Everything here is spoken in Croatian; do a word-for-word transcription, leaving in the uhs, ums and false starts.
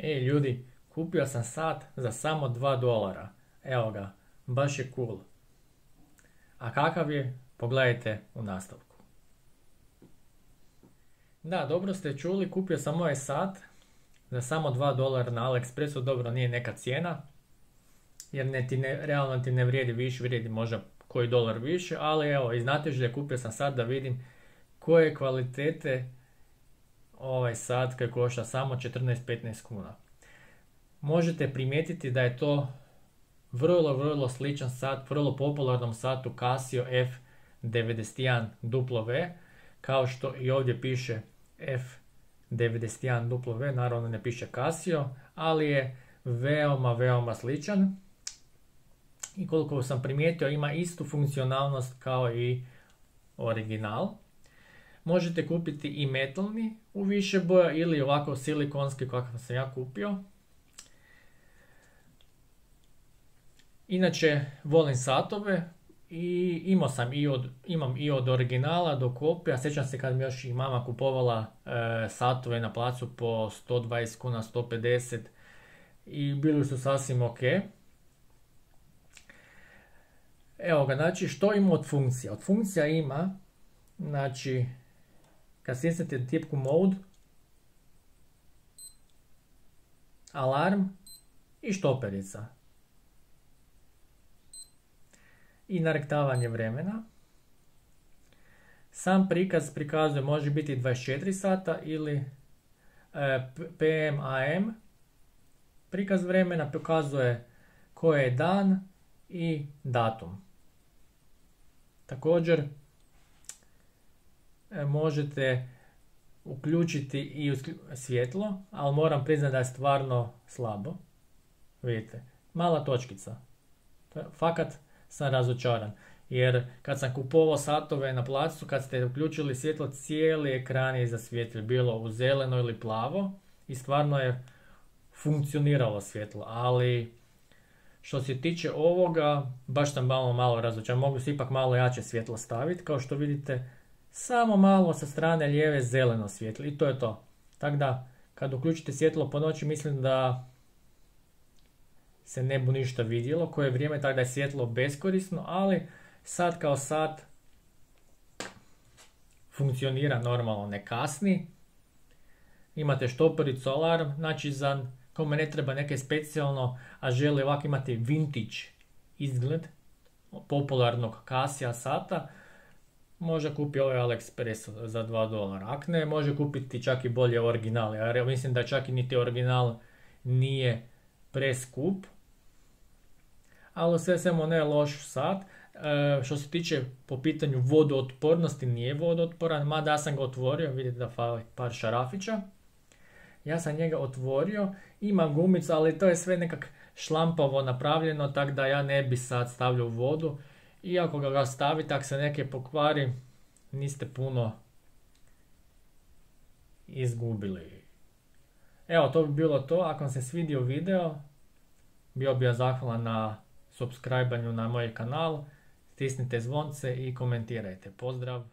Ej ljudi, kupio sam sat za samo dva dolara. Evo ga, baš je cool. A kakav je? Pogledajte u nastavku. Da, dobro ste čuli, kupio sam ovaj sat za samo dva dolara na AliExpressu. Dobro, nije neka cijena, jer ne ti ne, realno ti ne vrijedi više, vrijedi možda koji dolar više, ali evo, iz znatiželje kupio sam sat da vidim koje kvalitete ovaj sat koji košta samo četrnaest do petnaest kuna. Možete primijetiti da je to vrlo, vrlo sličan sat, vrlo popularnom satu Casio F devedeset jedan W, kao što i ovdje piše F devedeset jedan W, naravno ne piše Casio, ali je veoma, veoma sličan. I koliko sam primijetio, ima istu funkcionalnost kao i original. Možete kupiti i metalni u više boja ili ovako silikonski kakav sam ja kupio. Inače, volim satove i imao sam i od, imam i od originala do kopija. Sjećam se kad mi još i mama kupovala e, satove na placu po sto dvadeset kuna, sto pedeset i bili su sasvim ok. Evo ga, znači što ima od funkcija? Od funkcija ima, znači, kad stisnete tipku mode, alarm i štoperica. I narektavanje vremena. Sam prikaz prikazuje, može biti dvadeset četiri sata ili e, P M A M. Prikaz vremena pokazuje koji je dan i datum. Također e, možete uključiti i svjetlo, ali moram priznati da je stvarno slabo. Vidite, mala točkica. Fakat sam razočaran, jer kad sam kupovao satove na placu, kad ste uključili svjetlo, cijeli ekran je zasvijetlio, bilo u zeleno ili plavo i stvarno je funkcioniralo svjetlo, ali što se tiče ovoga, baš sam malo malo razočaran. Mogu se ipak malo jače svjetlo staviti, kao što vidite, samo malo sa strane lijeve zeleno svjetlo i to je to. Tako da, kad uključite svjetlo po noći, mislim da se ne bu ništa vidjelo koje vrijeme, tako da je svjetlo beskorisno, ali sat kao sat funkcionira normalno, ne kasni. Imate štopericu, alarm, znači za kome ne treba neke specijalno, a želi ovako imati vintage izgled popularnog Casio sata, može kupiti ovaj AliExpress za dva dolara. Ako ne, može kupiti čak i bolje originale, jer mislim da čak i niti original nije preskup. Ali sve svemu ne je loš sat. E, što se tiče po pitanju vodootpornosti, nije vodootporan, mada ja sam ga otvorio, vidite da fali par šarafića. Ja sam njega otvorio, ima gumicu, ali to je sve nekak šlampavo napravljeno, tako da ja ne bi sad stavljao u vodu. Iako ga, ga stavite, ako se neke pokvari, niste puno izgubili. Evo, to bi bilo to. Ako vam se svidio video, bio bi ja zahvalan na subscribanju na moj kanal. Stisnite zvonce i komentirajte. Pozdrav!